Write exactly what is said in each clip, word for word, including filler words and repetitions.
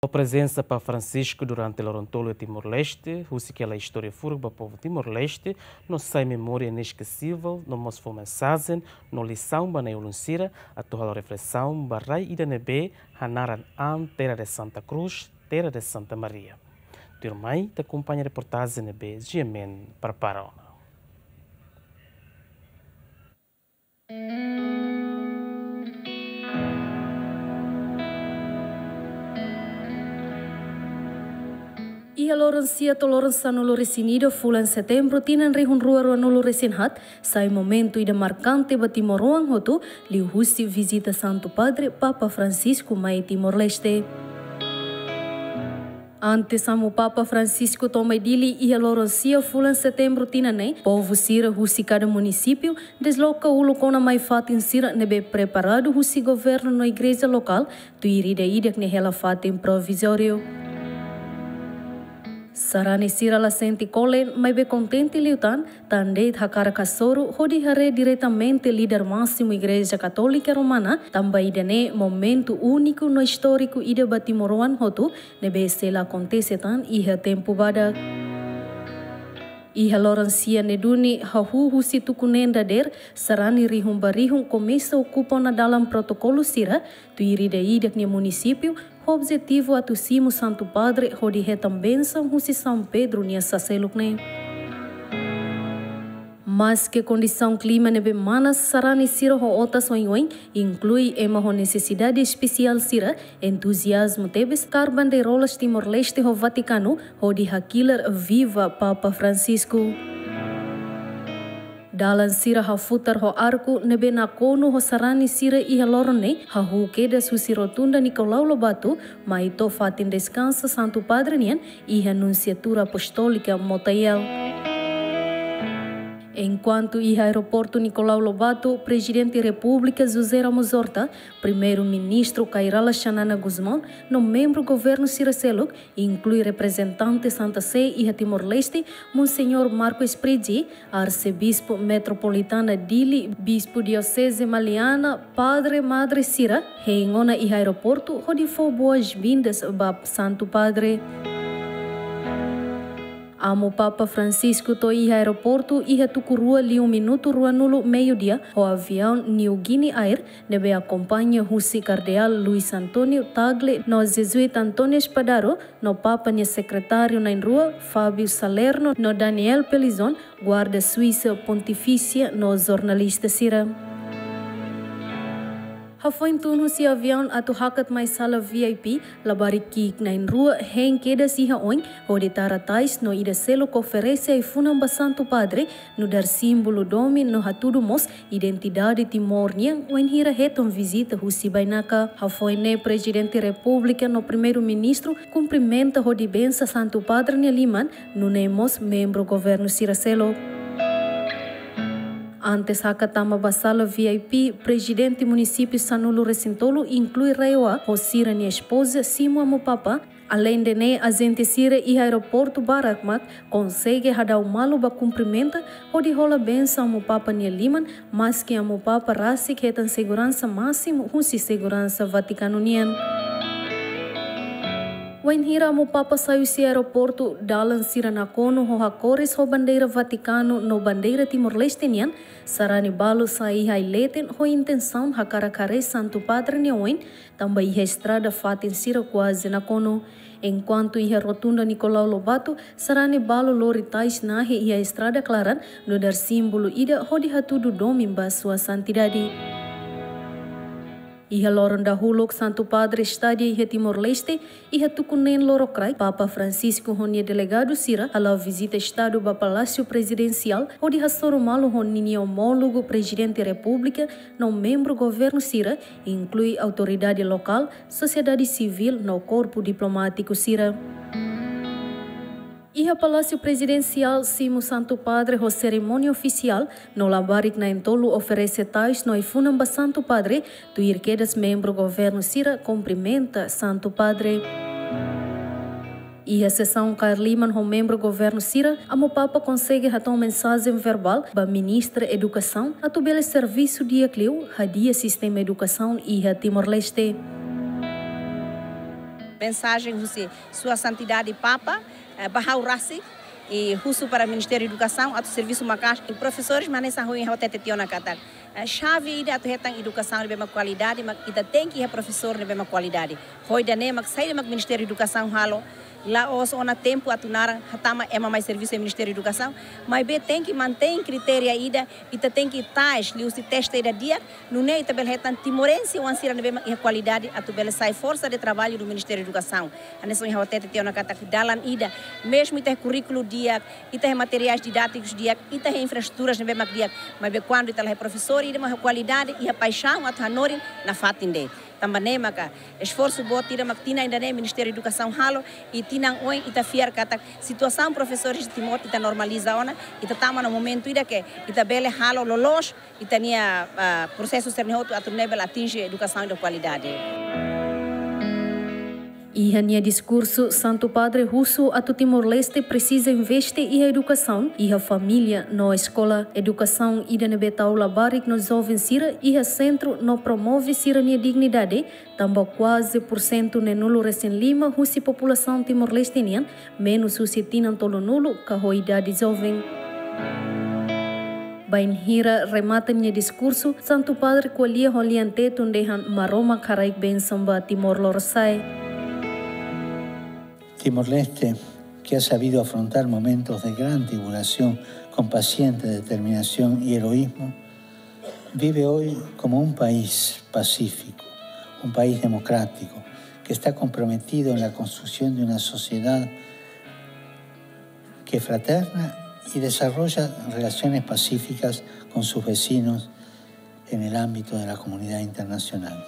Prezensa Papa Francisco durante loron tolu iha Timor-Leste, husik hela istória furak ba povu Timor-Leste, no sai memória ineskesivel, no mós fó mensajen no lisaun ba na'i-ulun sira atu halo reflesaun ba rai ida ne'ebé hanaran an Terra de Santa Cruz, Terra de Santa Maria. Tuirmai ita akompaña reportajen ne'ebé G M N prepara ona. Iha loron sia to'o loron sanulu-resin-ida fulan Setembru tinan rihun rua ruanulu-resin-haat, sai momentu ida markante ba timoroan hotu, liuhusi vizita Santu Padre Papa Francisco mai Timor-Leste. Antes Amu Papa Francisco to'o mai Dili iha loron sia fulan Setembru tinan ne'e, povu sira husi kada munisípiu desloka uluk ona mai fatin sira ne'ebé preparadu husi governu no igreja lokál, tuir ida-idak nia hela fatin provizóriu. Sarani sira la sente kolen, maibé kontente liután, tan de'it hakarak hasoru hodi haree diretamente líder másimu Igreja Katólika Romana, tanba ida-ne'e momentu úniku no istóriku ida ba timoroan hotu, ne'ebé sei la akontese tan iha tempu badak. Iha loron sia ne'e duni, hahú husi tuku neen dadeer, sarani rihun ba rihun komesa okupa ona dalan protokolu sira, tuir ida-idak nia munisípiu, ho objetivu atu simu Santu Padre hodi hetan bensaun husi São Pedro nia sá seluk ne'e. Maske kondisaun klima ne'ebé manas, sarani sira ho otas oin-oin, inklui ema ho nesesidade espesiál sira, entuziazmu tebes, kaer bandeirolas Timor-Leste ho Vatikanu, hodi hakilar Viva Papa Francisco. Dalan sira hafutar ho arku ne'ebé nakonu ho sarani sira iha loron ne'e, hahú kedas husi Rotunda Nicolau Lobato, mai to'o fatin deskansa Santu Padre nian, iha Nunsiatura Apostólika Motael. Enkuantu iha Aeroportu Nicolau Lobato, Prezidente Repúblika José Ramos Horta, Primeiru-Ministru Kay Rala Xanana Gusmão, no membru governu sira seluk, inklui reprezentante Santa Sé iha Timor-Leste, Monseñór Marco Spriggi, Arsebispu Metropolitana Dili, Bispu Dioseze Maliana, Padre, Madre sira, hein ona iha aeroportu, hodi fó boas-vindas ba Santu Padre. Amu Papa Francisco to'o iha aeroportu iha tuku rua liu minutu ruanulu meiudia, ho aviaun New Guinea Air, ne'ebé akompaña husi Kardeál Luis António Tagle no Jezuíta António Spadaro, no Papa nia sekretáriu na'in-rua, Fábio Salerno, no Daniel Pelizon, guarda Suísa Pontifísia, no jornalista sira. Hafoin tun husi aviaun atu hakat mai sala V I P, labarik ki'ik na'in-rua hein kedas iha oin, hodi tara tais no ida seluk oferese ai-funan ba Santu Padre, nu'udar símbolu domin no hatudu mós identidade Timor nian, wainhira hetan vizita husi bainaka. Hafoin ne'e Prezidente Repúblika no Primeiru-Ministru kumprimenta hodi bensa Santu Padre nia liman, nune'e mós membru governu sira seluk. Antes hakat tama ba sala V I P, Prezidente Munisípiu sanulu-resin-tolu, inklui RAEOA, ho sira-nia espoza, simu Amu Papa. Aleinde ne'e, ajente sira iha aeroportu barak mak konsege hadau malu ba kumprimenta, hodi hola bensaun Amu Papa nia liman, maske Amu Papa rasik hetan seguransa másimu husi seguransa Vatikanu nian. Wainhira Amu Papa sai husi aeroportu, dalan sira nakonu ho hakores ho bandeira Vatikanu no bandeira Timor-Leste nian, sarani balu sai iha ai-leten ho intensaun hakarak haree Santu Padre nia oin, tanba iha estrada fatin sira kuaze nakonu. Enkuantu iha Rotunda Nicolau Lobato, sarani balu lori tais nahe iha estrada klaran, nu'udar símbolu ida hodi hatudu domin ba Sua Santidade. Iha loron dahuluk Santu Padre estadia iha Timor-Leste, iha tuku neen lorokraik, Papa Francisco ho nia delegadu sira hala'o vizita Estadu ba Palásiu Prezidensiál, hodi hasoru malu ho ninia omólogu Prezidente Repúblika, no membru governu sira, inklui autoridade lokál, sosiedade sivíl no korpu diplomátiku sira. Iha Palásiu Prezidensiál simu Santu Padre ho serimónia ofisiál, no labarik na'in-tolu oferese tais no ai-funan ba Santu Padre, tuir kedas membru governu sira kumprimenta Santu Padre. Iha sesaun kaer liman ho membru governu sira, Amu Papa konsege hato'o mensajen verbál ba Ministra Edukasaun atu bele servisu di'ak liu hadi'a sistema edukasaun iha Timor-Leste. Mensajen husi Sua Santidade Papa, eh, ba ha'u rasik, i husu para Ministériu Edukasaun atu servisu maka'as, i profesores mak hanesan ohin ha'u hatete tiha ona katak, eh, xave ida atu hetan edukasaun ne'ebé mak kualidade, mak ita tenke iha profesór ne'ebé mak kualidade. Ho ida-ne'e mak saida mak Ministériu Edukasaun halo, la'ós ona tempu atu naran hatama ema mai servisu iha Ministériu Edukasaun, maibé tenke mantein kritéria ida, ita tenke tás liuhusi teste ida di'ak, nune'e ita bele hetan timorense oan sira ne'ebé mak iha kualidade atu bele sai forsa de traballu do Ministériu Edukasaun. Hanesan ohin ha'u hatete tiha ona katak dalan ida, mezmu ita iha kurríkulu di'ak, ita iha materiais didátikus di'ak, ita iha infraestruturas ne'ebé mak di'ak, maibé kuandu ita la iha profesór ida mak iha kualidade, iha paixaun atu hanorin, nafatin de'it. Tanba ne'e maka esforsu boot ida mak tinan ida-ne'e Ministériu Edukasaun halo, i tinan oin ita fiar katak situasaun profesores Timor ita normaliza ona, ita tama ona momentu ida ke ita bele halo loloos ita-nia, ah, prosesu sira-ne'e hotu atu nune'e bele atinje edukasaun de kualidade. Iha nia diskursu, Santu Padre husu atu Timor-Leste presiza investe iha edukasaun, iha família no eskola. Edukasaun ida ne'ebé tau labarik no joven sira iha sentru no promove sira-nia dignidade, tanba kuaze pursentu neenulu-resin-lima husi populasaun Timor-Leste nian menus husi tinan tolunulu ka ho idade joven. Bainhira remata nia diskursu, Santu Padre ko'alia ho lian Tetun dehan Maromak haraik bensaun ba Timor Lorosa'e. Timor-Leste, que ha sabido afrontar momentos de gran tribulación con paciente determinación y heroísmo, vive hoy como un país pacífico, un país democrático, que está comprometido en la construcción de una sociedad que es fraterna y desarrolla relaciones pacíficas con sus vecinos en el ámbito de la comunidad internacional.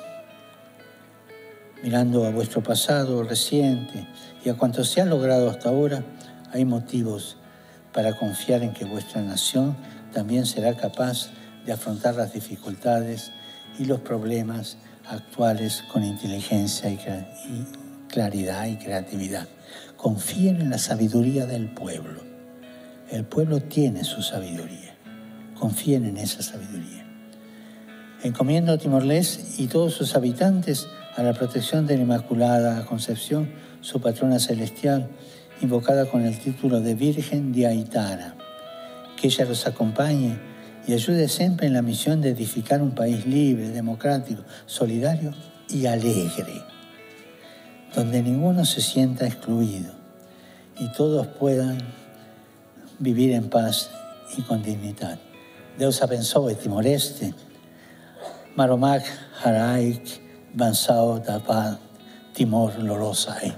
Mirando a vuestro pasado reciente y a cuanto se ha logrado hasta ahora, hay motivos para confiar en que vuestra nación también será capaz de afrontar las dificultades y los problemas actuales con inteligencia y cre-, y claridad y creatividad. Confíen en la sabiduría del pueblo. El pueblo tiene su sabiduría. Confíen en esa sabiduría. Encomiendo a Timor-Leste y todos sus habitantes a la protección de la Inmaculada Concepción, su patrona celestial, invocada con el título de Virgen de Aitara. Que ella los acompañe y ayude siempre en la misión de edificar un país libre, democrático, solidario y alegre, donde ninguno se sienta excluido y todos puedan vivir en paz y con dignidad. Deus abençoe Timor-Leste. Maromak haraik bensaun ba Timor Lorosa'e.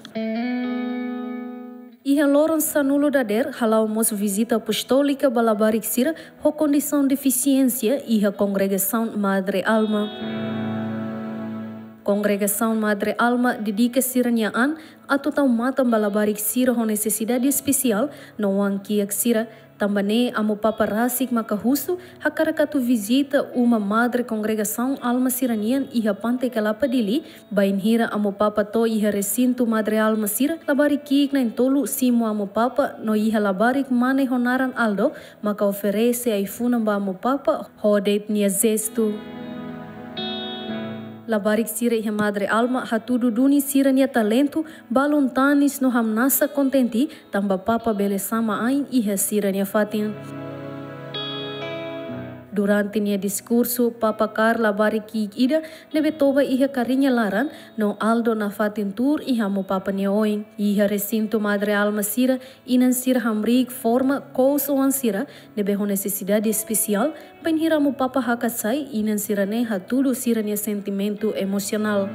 Iha loron sanulu dadeer, hala'o mós vizita apostólika ba labarik sira ho kondisaun defisiénsia iha Kongregasaun Madre Alma. Kongregasaun Madre Alma dedika sira-nia an atu tau matan ba labarik sira ho nesesidade espesiál no oan kiak sira. Tanba ne'e Amu Papa rasik maka husu hakarak atu vizita uma Madre Kongregasaun Alma sira-nian iha Pante Kelapa Dili, bainhira Amu Papa to'o iha resintu Madre Alma sira, labarik ki'ik na'in-tolu simu Amu Papa no iha labarik mane ho naran Aldo maka oferese ai-funan ba Amu Papa ho de'it nia jestu. Labarik sira iha Madre Alma hatudu duni sira-nia talentu, balun tanis no hamnasa kontente, tanba Papa bele sama ain iha sira-nia fatin. Durante nia diskursu, Papa kaer labarik ki'ik ida ne'ebé toba iha kariña laran, no Aldo nafatin tuur iha Amu Papa nia oin. Iha resintu Madre Alma sira, inan sira hamriik forma kous oan sira ne'ebé ho nesesidade espesiál, bainhira Amu Papa hakat sai, inan sira-ne'e hatudu sira-nia sentimentu emosionál.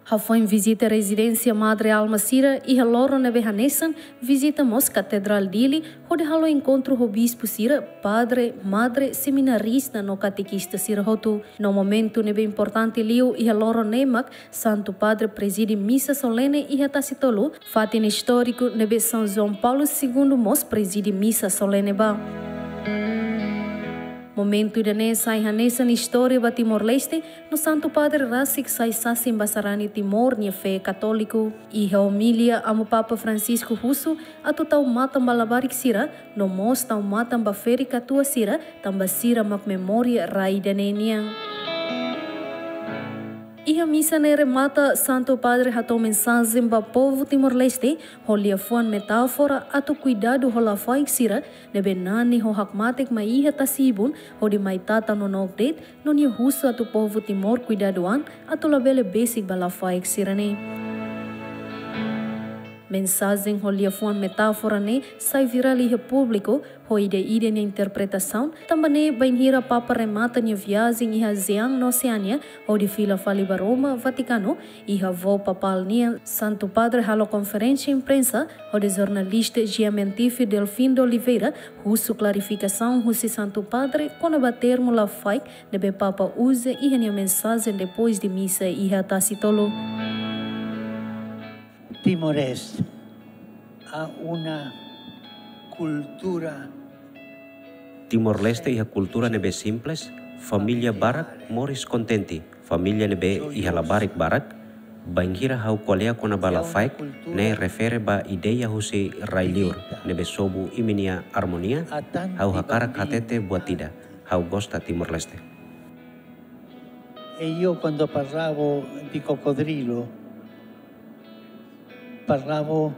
Hafoin vizita rezidénsia Madre Alma sira, iha loron ne'ebé hanesan, vizita mós Katedrál Dili, hodi halo enkontru ho bispu sira, padre, madre, seminarista no katekista sira hotu. No momentu ne'ebé importante liu iha loron ne'e mak Santu Padre prezide misa solene iha Tasi Tolu, fatin istóriku ne'ebé São João Paulo Segundo mós prezide misa solene ba. Momentu ida-ne'e sai hanesan istória ba Timor-Leste, no Santu Padre rasik sai sasin ba sarani Timor nia fé katóliku. Iha omilia, Amu Papa Francisco husu atu tau matan ba labarik sira, no mós tau matan ba ferik-katuas sira, tanba sira mak memória rai ida-ne'e nian. Iha misa ne'e remata, Santu Padre hato'o mensajen ba povu Timor-Leste ho liafuan metáfora atu kuidadu ho lafaek sira ne'ebé nani ho hakmatek mai iha tasi-ibun hodi mai tata nonook de'it, no nia husu atu povu Timor kuidadu an atu labele besik ba lafaek sira-ne'e. Mensajen ho liafuan metáfora ne'e sai virál iha públiku ho ida-idak nia interpretasaun, tanba ne'e bainhira Papa remata nia viajen iha ASEAN no Oseánia hodi fila fali ba Roma, Vatikanu, iha voo papál nian, Santu Padre halo konferénsia imprensa hodi jornalista Giamentifi Delfim de Oliveira husu klarifikasaun husi Santu Padre kona-ba termu lafaek ne'ebé Papa uza iha nia mensajen depois de misa iha tasi tolu. Timor-Leste ha una cultura. Timor-Leste iha kultura ne'ebé simples, família barak moris kontente. Família ne'ebé iha labarik barak, bainhira ha'u ko'alia kona-ba lafaek, ne'e refere ba ideia husi rai-liur ne'ebé sobu imi-nia armonia, ha'u hakarak hatete buat ida, ha'u gosta Timor-Leste. E io quando parlavo di coccodrillo, parlavo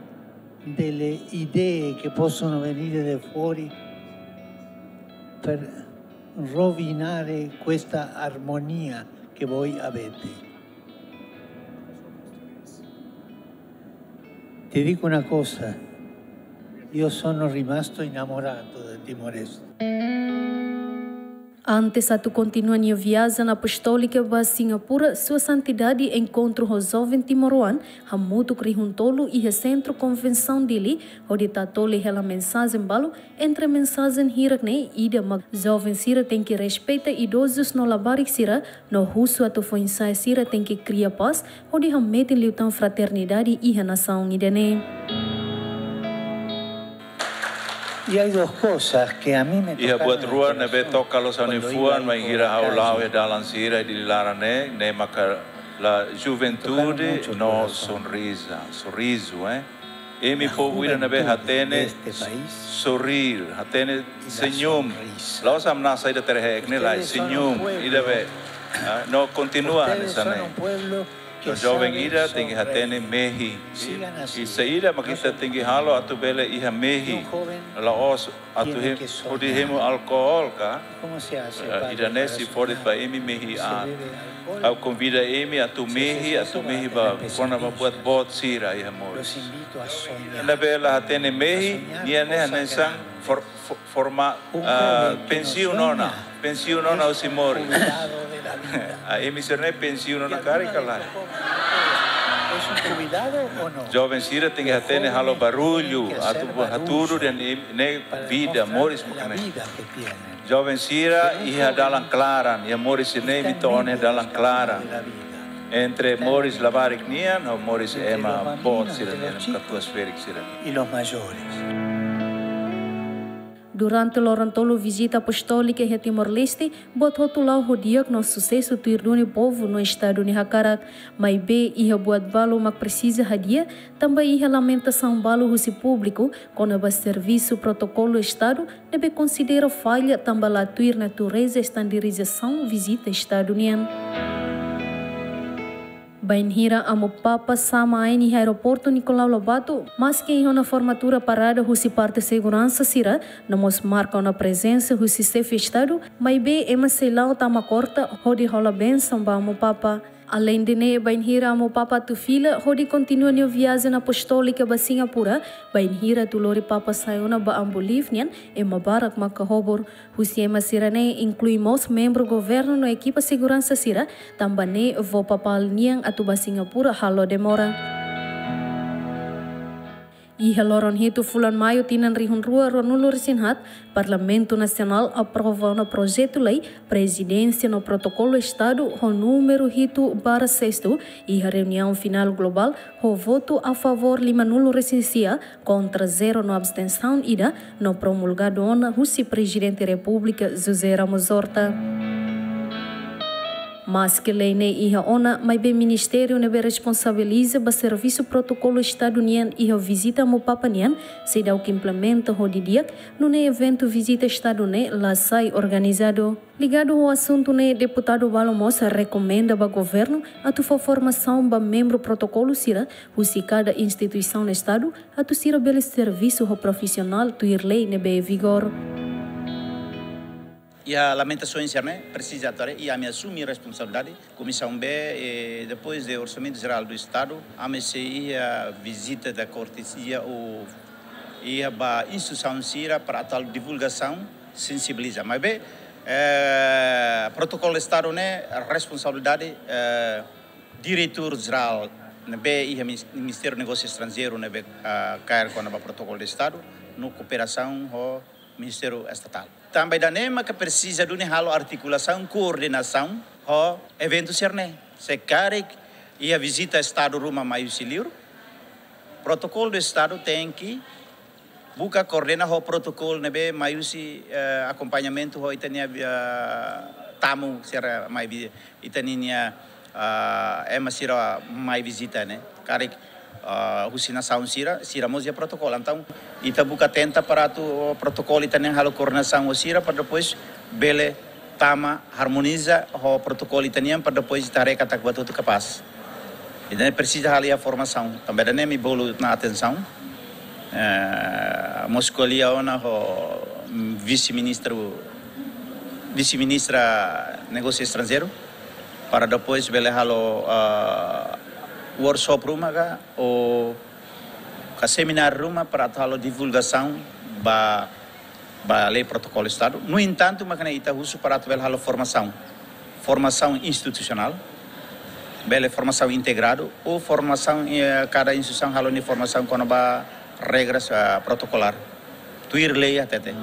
delle idee che possono venire da fuori per rovinare questa armonia che voi avete. Ti dico una cosa, io sono rimasto innamorato del Timor-Leste. Antes atu kontinua nia viajen apostólika ba Singapura, Sua Santidade enkontru ho joven timoroan hamutuk rihun tolu iha Sentru Konvensaun Dili, hodi tatoli hela mensajen balu. Entre mensajen hirak-ne'e, ida mak joven sira tenke respeita idozus no labarik sira, no husu atu foin-sa'e sira tenke kria pás hodi hametin liután fraternidade iha nasaun ida-ne'e. Y hay dos cosas que a mí me tocaron especialmente. Iha buat rua ne'ebé toka loos ha'u-nia fuan bainhira ha'u la'o iha dalan sira iha Dili laran ne'e, ne'e maka la juventude no sonrisa, sorriso, eh. Imi povu ida ne'ebé hatene sorrir, hatene senyum. La'ós hamnasa ida terhek ne'e lae, senyum ida be. Ah, no kontinua hanesan ne'e. No joven ida tenke hatene mehi. I, i saida mak ita tenke halo atu bele iha mehi. La'ós atu hem-, hodi hemu alkohol ka? Eh, ida-ne'e sei fó de'it ba imi mehi an. Ha'u konvida imi atu mehi, atu mehi ba kona-ba buat boot sira iha moris. Ne'ebé la hatene mehi, nia ne'e hanesan for-, fo-, forma, ah, pensiun ona, pensiun ona husi moris. Ah, imi sira-ne'e pensiun ona karik ka lae? Joven sira tenke hatene halo barullu, atu hatudu dehan ne'e vida, moris mak ne'e. Joven sira iha dalan klaran, iha moris sira-ne'e imi to'o ona iha dalan klaran. Entre moris labarik nian ho moris ema boot sira-nian, katuas-ferik sira-nian. Durante loron tolu vizita apostólika iha Timor-Leste, buat hotu la'o ho di'ak no susesu tuir duni povu no Estadu nia hakarak. Maibé iha buat balu mak presiza hadi'a, tanba iha lamentasaun balu husi públiku kona-ba servisu protokolu Estadu ne'ebé konsidera falla tanba la tuir natureza estandarizasaun vizita Estadu nian. Bainhira Amu Papa sa'e mai iha aeroportu Nicolau Lobato, maski iha ona formatura parada husi parte seguransa sira, no mós marka ona prezensa husi Xefe Estadu, maibé ema sei la'o tama korta hodi hola bensaun ba Amu Papa. Aleinde ne'e, bainhira Amu Papa atu fila hodi kontinua nia viajen apostólika ba Singapura, bainhira atu lori Papa sa'e ona ba Ambu Live nian, ema barak mak kahobur. Husi ema sira-ne'e inklui mós membru governu no ekipa seguransa sira, tanba ne'e voo papál nian atu ba Singapura halo demora. Iha loron hitu fulan Maiu tinan rihun rua ruanulu-resin-haat, Parlamentu Nasionál aprova ona projetu lei Prezidénsia no Protokolu Estadu ho númeru hitu barra sestu, iha reuniaun finál globál ho votu a favór limanulu-resin-sia, kontra zero no abstensaun ida, no promulgadu ona husi Prezidente Repúblika José Ramos Horta. Maske lei ne'e iha ona, maibé ministériu ne'ebé responsabiliza ba servisu protokolu Estadu nian iha vizita Amu Papa nian seidauk implementa ho didi'ak, nune'e eventu vizita Estadu ne'e la sai organizadu. Ligadu ho asuntu ne'e, deputadu balu mós rekomenda ba governu atu fó formasaun ba membru protokolu sira husi kada instituisaun Estadu atu sira bele servisu ho profisionál tuir lei ne'ebé vigor. Iha lamentasaun sira-ne'e presiza atu haree, i ami asume responsabilidade. Komisaun B, eh, depois de Orçamento Geral do Estado, ami sei iha vizita de cortesia ou iha ba instituisaun sira para atu halo divulgasaun, sensibiliza. Maibé, eh, protokolu Estadu ne'e responsabilidade, eh, diretór jerál ne'ebé iha Minis-, Ministériu Negósiu Estranjeiru ne'ebé, ah, kaer kona-ba protokolu Estadu, no kooperasaun ho Ministériu Estatál. Tanba ida-ne'e maka presiza duni halo artikulasaun, koordenasaun ho eventu sira-ne'e. Se karik iha vizita Estadu ruma mai husi liur, protokolu Estadu tenke buka koordena ho protokolu ne'ebé mai husi, eh, akompañamentu ho ita-nia, eh, tamu sira mai vi-, ita-nia, ah, ema sira mai vizita ne'e. Karik, ah, husi nasaun sira, sira mós iha protokolu. Entaun, ita buka tenta para atu protokolu ita-nian halo koordenasaun ho sira, para depois bele tama harmoniza ho protokolu ita-nian, para depois ita haree katak buat hotu kapás. Ida-ne'e presiza halo iha formasaun. Tanba ida-ne'e ami bolu ona atensaun. Eh, mós ko'alia ona ho vise-ministru, vise-ministra Negósiu Estranjeiru, para depois bele halo, ah, workshop ruma ka, ou ka semináriu ruma para atu halo divulgasaun ba, ba lei protokolu Estadu. No entantu, maka ne'e ita husu para atu bele halo formasaun. Formasaun institusionál, bele formasaun integradu, ou formasaun, eh, kada instituisaun halo nia formasaun kona-ba regras, ah, protokolár. Tuir lei hatete.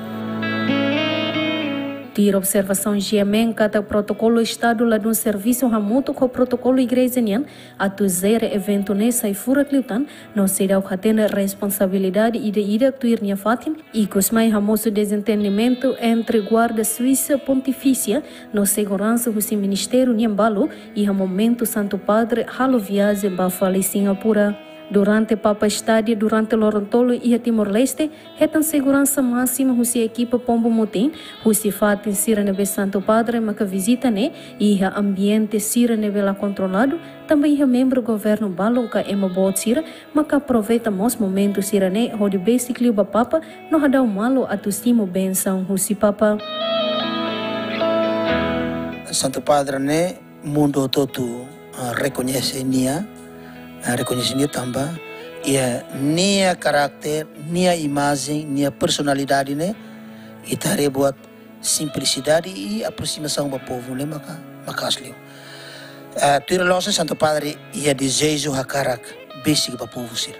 Tuir observasaun G M N katak protokolu Estadu ladún servisu hamutuk ho protokolu igreja nian atu jere eventu ne'e sai furak liután, no seidauk hatene responsabilidade ida-idak tuir nia fatin, ikus mai hamosu dezentendimentu entre Guarda Suíça Pontifícia no seguransa husi ministériu nian balu iha momentu Santu Padre halo viajen ba fali Singapura. Durante Papa estadi durante loron tolu iha Timor-Leste, hetan seguransa másima husi ekipa pombu mutin, husi fatin sira ne'ebé Santu Padre maka vizita ne'e, iha ambiente sira ne'ebé la kontroladu, tanba iha membru governu balu ka ema boot sira maka aproveita mós momentu sira-ne'e hodi besik liu ba Papa no hadau malu atu simu bensaun husi Papa. Santu Padre ne'e mundu hotu-hotu, ah, rekoñese nia, ah, rekoñese nia tanba iha nia karakter, nia imajen, nia personalidade ne'e, ita haree buat simplisidade i aproximasaun ba povu ne'e maka, maka'as liu. Ah, tuir loloos Santu Padre iha dezeju hakarak besik ba povu sira.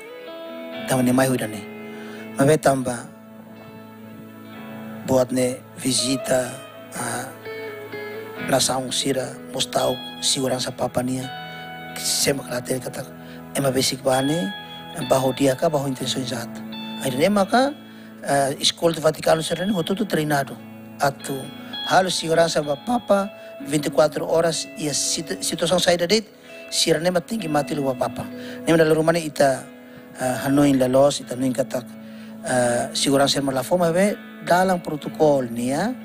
Tanba ne'e mai ho ida-ne'e. Maibé tanba buat ne'e vizita, ah, nasaun sira mós ta'uk seguransa Papa nian, sé mak la hatene katak ema besik ba ne'e ba ho di'ak ka ba ho intensaun jaat. Ida-ne'e maka, ah, eskolta Vatikanu sira-ne'e hotu-hotu treinadu atu halo seguransa ba Papa vinte e quatro horas iha situ-, situasaun saida de'it, sira-ne'e mak tenke mate liu ba Papa. Ne'e mak dala ruma ne'e ita, ah, hanoin loloos, ita hanoin katak, ah, seguransa ema la fó, maibé dalam protokolu nian,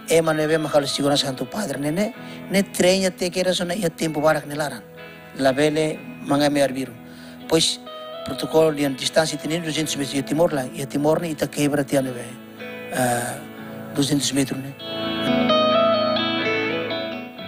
ema ne'ebé mak halo seguransa Santu Padre ne'e, ne'e, ne'e treina tiha kedas ona iha tempu barak nia laran. Labele manga-manga arbiru. Pois, protokolu nian distánsia ita-nia duzentos metru iha Timor lae, iha Timor ne'e ita kebra tiha ne'ebé, ah, duzentos metru ne'e.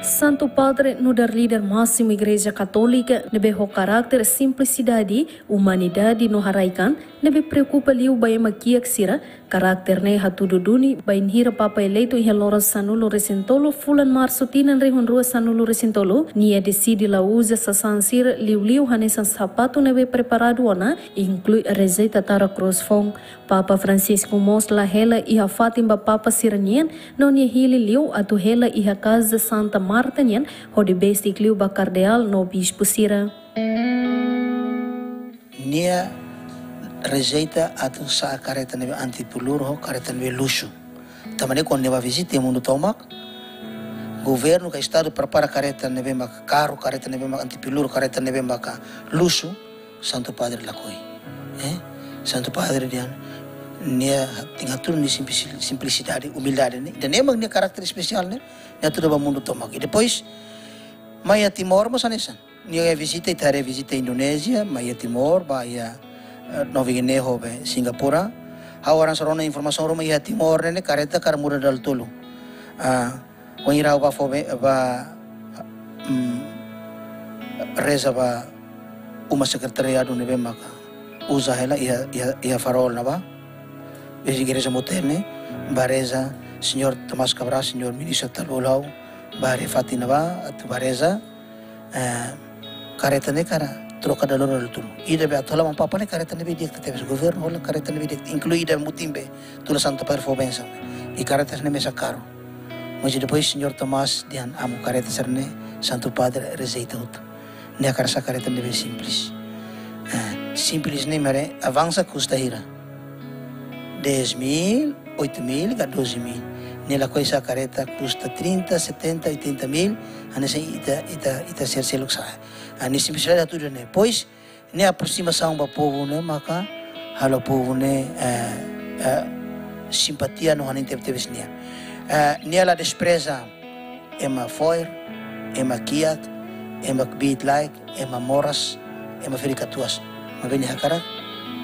Santu Padre nu'udar líder másimu Igreja Katólika ne'ebé ho karakter simplisidade, umanidade no haraikan, ne'ebé preokupa liu ba ema kiak sira, karakter ne'e hatudu duni bainhira Papa eleitu iha loron sanulu-resin-tolu fulan Marsu tinan rihun rua sanulu-resin-tolu, nia deside la uza sasán sira liuliu hanesan sapatu ne'ebé preparadu ona, inklui rejeita tara krús foun. Papa Francisco mós la hela iha fatin ba Papa sira-nian, no nia hili liu atu hela iha Kaza Santa Marta nian, hodi besik liu ba kardeál no bispu sira. Nia rejeita atu sa'e kareta ne'ebé antipuluru ho kareta ne'ebé luxu. Tanba ne'e kuandu nia bá vizita iha mundu tomak, Governu ka estadu prepara kareta ne'ebé maka karu, kareta ne'ebé maka antipeluru, kareta ne'ebé maka luxu, Santu Padre lakohi. Eh? Santu Padre dehan, nia tenke hatudu nia simpli-, simplisidade, umildade ne'e. Ida-ne'e mak nia karakter espesiál ne'e, nia hatudu ba mundu tomak. I depois, mai iha Timor mós hanesan. Nia vizita, ita haree vizita Indonézia, mai iha Timor, ba iha, eh, Nova Guiné ho be Singapura. Ha'u hanesan rona informasaun ruma iha Timor ne'e kareta hakarak muda dala tolu. Ah, wainhira ha'u ba fó be, ba, mm, reza ba uma sekretariadu ne'ebé maka uza hela iha, iha, iha Farol ne'ebá. Iha igreja Mutene, ba reza, Señór Tomás Cabral, Señór Ministru Talbulau, ba haree fatin ne'ebá, atu ba reza, eh, kareta ne'e hakarak troka dala rua dala tolu. Ida be atu hola Amu Papa ne'e kareta ne'ebé di'ak tebes, governu hola kareta ne'ebé di'ak, inklui ida mutin be, tula Santu Padre fó bensaun. I kareta ne'e mesak karu. Mas depois Señór Tomás dehan Amu, kareta sira-ne'e Santu Padre rejeita hotu. Nia hakarak sa'e kareta ne'ebé simples. Eh, simples ne'e mak haree avansa kusta hira. Dez mil, oito mil, ka doze mil. Nia lakohi sa'e kareta kusta trinta, setenta, oitenta mil. Hanesan ita, ita, ita sira seluk sa'e. Ah, nia simplisidade hatudu ne'e. Depois, nia aproximasaun ba povu ne'e maka halo povu ne'e, eh, eh, simpatia no hanesan tebetebes nia. Eh, nia la despreza ema fo'er, ema kiak, ema kbiit-laek, ema moras, ema ferik-katuas. Maibé nia hakarak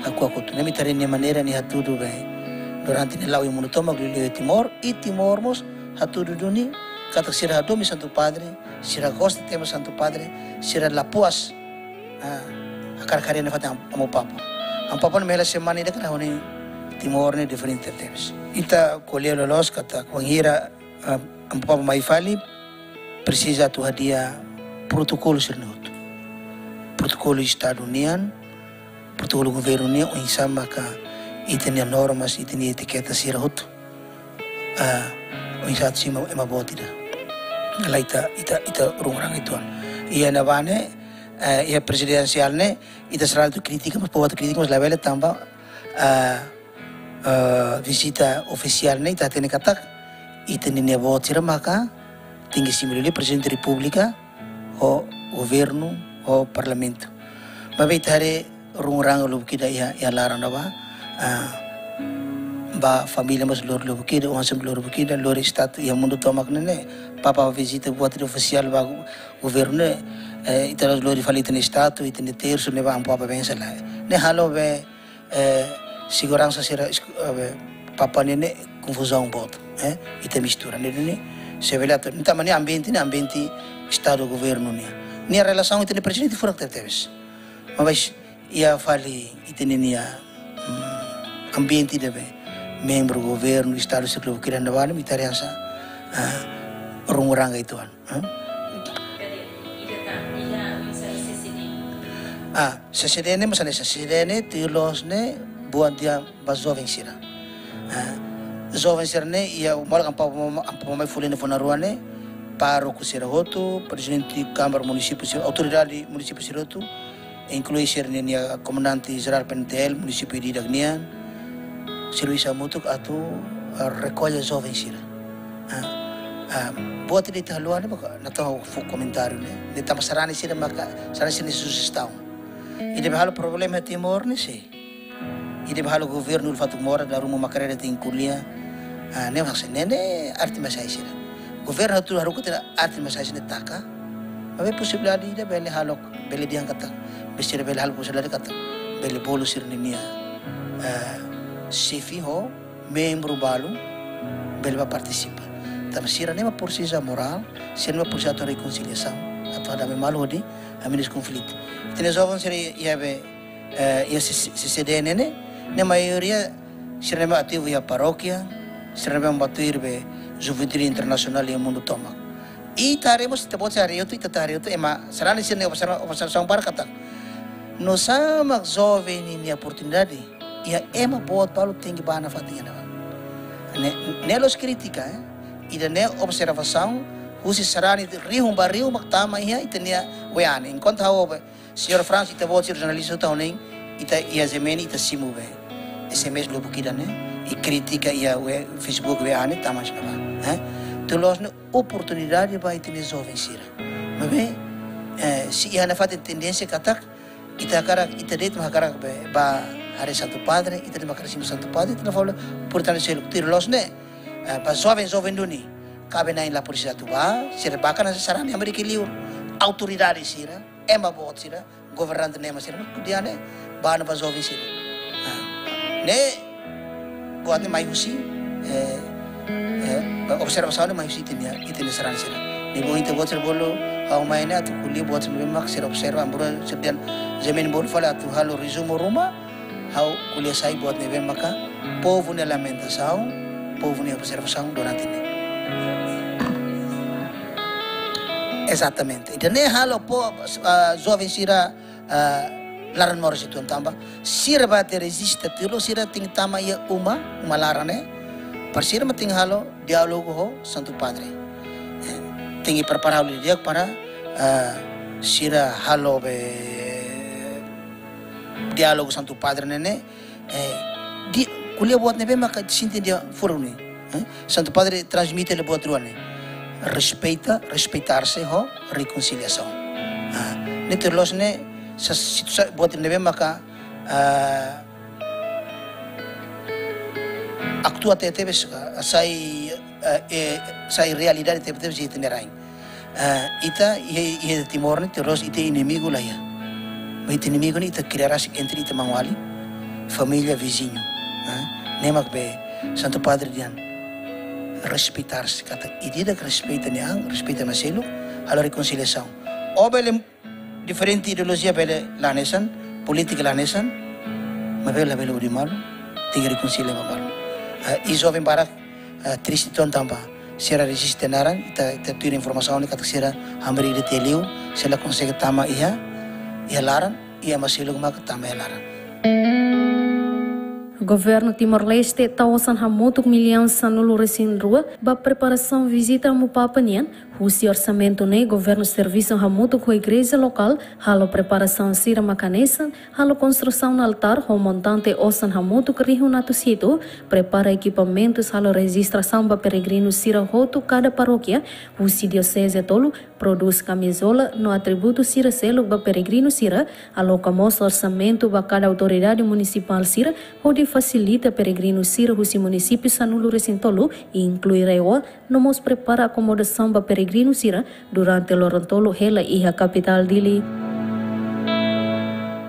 hakuak hotu. Ne'e mak ita haree nia maneira nia hatudu be durante nia la'o iha mundu tomak, liuliu iha Timor, i Timor mós hatudu duni katak sira hadomi Santu Padre, sira gosta tebes Santu Padre, sira la puas, ah, hakarak haree nafatin Amu Papa. Amu Papa ne'e hela semana ida ka lae, ho nia Timor ne'e diferente tebes. Ita ko'alia loloos katak wainhira, ah, Amu Papa mai fali, presiza atu hadi'a protokolu sira-ne'e hotu. Protokolu estadu nian, protokolu governu nian, oinsá maka ita-nia normas, ita-nia etiketa sira hotu. Ah, oinsá atu simu ema boot ida. Lae ita, ita, ita rungurang uitoan. Iha ne'ebá ne'e, eh, iha prezidensiál ne'e, ita sira atu kritika, mas povu atu kritika, mas labele tanba, ah, eh, vizita ofisiál ne'e ita hatene katak ita-nia boot sira maka tenke simu liuliu Prezidente Repúblika, ho governu, ho parlamentu. Maibé ita haree rungurang lubuk ida iha, iha laran ne'ebá, ah, ba família mós lori lubuk ida, oan sira lori lubuk ida, lori estátua iha mundu tomak ne'e, Papa vizita buat ida ofisiál ba governu ne'e, eh, ita lori fali ita-nia estátua, ita-nia tersu ne'ebá Amu Papa bensa lae. Ne'e halo be eh, seguransa sira es-, eh, Papa ne'e, ne'e konfuzaun boot, eh, ita mistura ne'e duni, se bele atu, ita mani ambiente ne'e, ambiente estadu governu nian. Nia relasaun ita-nia prezidente furak tebetebes. Mas iha fali ita-nia, mm, ambiente ida be membru governu, estadu sira lubuk ida ne'ebá, ita haree hanesan, ah, rungurang uitoan. Hah? Kadé, ida tan, ida masa C C D. Ah, C C D ne'e masa ne'e, C C D ne'e tuir loos ne'e buat ida ba joven sira. Ah, joven sira ne'e, iha molok Amu Papa mai, Amu Papa mai fuli ne'e fó ona rua ne'e, pároku sira hotu, prezidente Kámara Munisípiu sira, autoridade munisípiu sira hotu, inklui sira-nia komandante jerál P N T L, munisípiu ida-idak nian, servisu hamutuk atu, ah, rekolla joven sira. Ah, ah, buat ida ita haluha ne'e, baka, natoon fó komentáriu ne'e. Ne'e tanba sarani sira maka, sarani sira-nia sujestaun. Ida be halo problema Timor ne'e sé? Ida be halo governu fatuk moras, dala ruma mak kareta tenke ko'alia. Ah, ne'e mak sé, ne'e, ne'e arte mak sai sira. Governu atu haruka tiha arte mak sai sira taka. Maibé posibilidade ida bele halo, bele dehan katak, be sira bele halo posibilidade katak bele bolu sira-nia, eh, xefe ho membru balu bele bá partisipa. Tanba sira ne'e mak presiza morál, sira ne'e mak presiza atu rekonsiliasaun, atu hadame malu hodi hamenus konflitu. Ita-nia joven sira iha be, eh, iha C-, C C D ne'e, ne'e maioria sira ne'e mak ativu iha parókia, sira ne'e mak atu iha be Juventude Internasionál iha mundu tomak. Ita haree mós, ita-boot sira haree hotu, ita haree hotu, ema sarani sira-nia observa-, observasaun barak katak, nusá mak joven ninia oportunidade, iha ema boot balu tenke bá nafatin iha ne'ebá. Ne'e, ne'e la'ós krítika, eh. Ida-ne'e observasaun husi sarani rihun ba rihun mak tama iha ita-nia W A ne'e. Enkuantu ha'u be, Señór Franz, ita-boot sira jornalista, ita hotu ne'e, ita iha G M N, ita simu be S M S lubuk ida ne'e, i krítika iha we-, Facebook, W A ne'e, tama iha ne'ebá, eh. Tuir loos ne'e oportunidade ba ita-nia joven sira. Maibé, eh, se iha nafatin tendénsia katak, ita hakarak, ita de'it mak hakarak be, bá haree Santu Padre, ita de'it mak hakarak simu Santu Padre, ita la falo, portantu, se tuir loos ne'e, eh, ba joven, joven duni, kaben-na'in la presiza atu bá, sira bá ka na sarani Amérika liur, autoridade sira, ema boot sira, governante ne'e ema sira, kudiane, bá no ba joven sira. Ah, ne'e, buat ne'e mai husi, eh, eh, observasaun ne'e mai husi ita-nia, ita-nia sarani sira. Ne'e bom ita buat sira bolu, ha'u mai ne'e atu ko'alia buat sira ne'ebé mak sira observa, embora sira dehan, Jamin bolu fali atu halo rezumu ruma, ha'u ko'alia sai buat ne'ebé maka povu nia lamentasaun, povu nia observasaun durante ne'e. Ezatamente. Ida-ne'e halo po, ah, joven sira, ah, laran-moras uitoan tanba sira bá atu rezista tuir loos sira tenke tama iha uma, uma laran ne'e. Para sira mak tenke halo diálogu ho Santu Padre. Eh, tenke prepara halo di'ak para, ah, sira halo be diálogu Santu Padre ne'e ne'e, eh, di, ko'alia buat ne'ebé maka sente iha furak ne'e. Eh, Santu Padre transmite hela buat rua ne'e. Respeita, respeitar-se ho rekonsiliasaun. Ah, ne'e tuir loos ne'e, sa, situ sa, buat ne'ebé maka, ah, aktua tebetebes, ah, sai, ah, eh, sai realidade tebetebes iha ita-nia rain. Ah, ita, iha, iha Timor ne'e, tuir loos ita inimigu la iha. Maibé ita inimigu ne'e ita kria rasik entre ita maun-alin, família, viziñu. Ah, ne'e mak be Santu Padre dehan, respeitar-se, katak ida-idak respeita nia an, respeita ema seluk, halo rekonsiliasaun. Ó bele diferente ideolojia bele la hanesan, polítika la hanesan, maibé labele odi malu, tenke rekonsilia ba malu. Ah, i joven barak, ah, triste uitoan tanba sira reziste naran, ita, ita tuir informasaun ne'e katak sira hamriik de'it iha liur, sira la konsege tama iha, iha laran, i ema seluk mak tama iha laran. Governu Timor-Leste tau osan hamutuk millaun sanulu-resin-rua ba preparasaun vizita Amu Papa nian. Husi orsamentu ne'e, governu servisu hamutuk ho igreja lokál halo preparasaun sira mak hanesan halo konstrusaun altár ho montante osan hamutuk rihun atus hitu, prepara ekipamentus halo rejistrasaun ba peregrinu sira hotu kada parókia husi dioseze tolu, prodús kamizola no atributu sira seluk ba peregrinu sira, aloka mós orsamentu ba kada autoridade munisipál sira, hodi fasilita peregrinu sira husi munisípiu sanulu-resin-tolu, inklui RAEOA, no mós prepara akomodasaun ba peregrinu sira durante loron tolu hela iha kapitál Dili.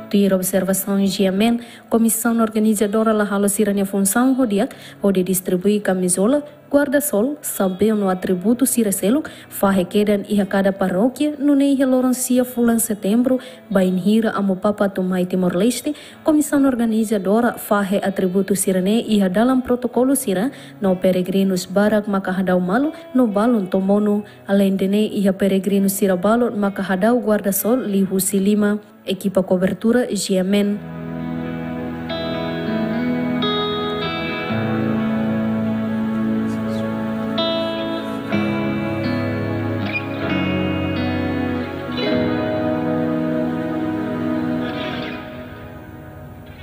Tuir observasaun G M N, komisaun organizadora la halo sira-nia funsaun ho di'ak, hodi distribui kamizola, guarda-sol, xapeu no atributu sira seluk, fahe kedan iha kada parókia, nune'e iha loron sia fulan Setembru, bainhira Amu Papa atu mai Timor-Leste, komisaun organizadora fahe atributu sira-ne'e iha dalan protokolu sira, no peregrinus barak maka hadau malu no balun to'o monu. Aleinde ne'e, iha peregrinu sira balun maka hadau guarda-sol liuhusi lima. Ekipa kobertura G M N.